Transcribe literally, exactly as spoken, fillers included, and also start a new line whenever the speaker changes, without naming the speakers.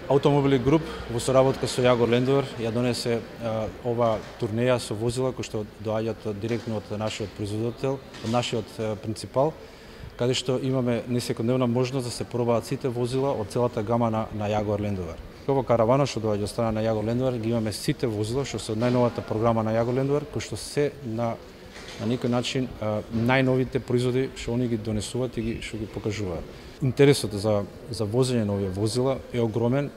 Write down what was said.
Автомобили груп во соработка со Јагор Land Rover ја донесе а, ова турнеја со возила кои што доаѓаат директно од нашиот производител, од нашиот а, принципал, каде што имаме несекојдневна можност да се пробаат сите возила од целата гама на, на Јагор Land Rover. Ова каравана што доаѓа од страна на Јагор Land Rover ги имаме сите возила што се од најновата програма на Јагор Land Rover, кои што се на на некој начин а, најновите производи што они ги донесуваат и ги што ги покажуваат. Интересот за за возење на овие возила е огромен.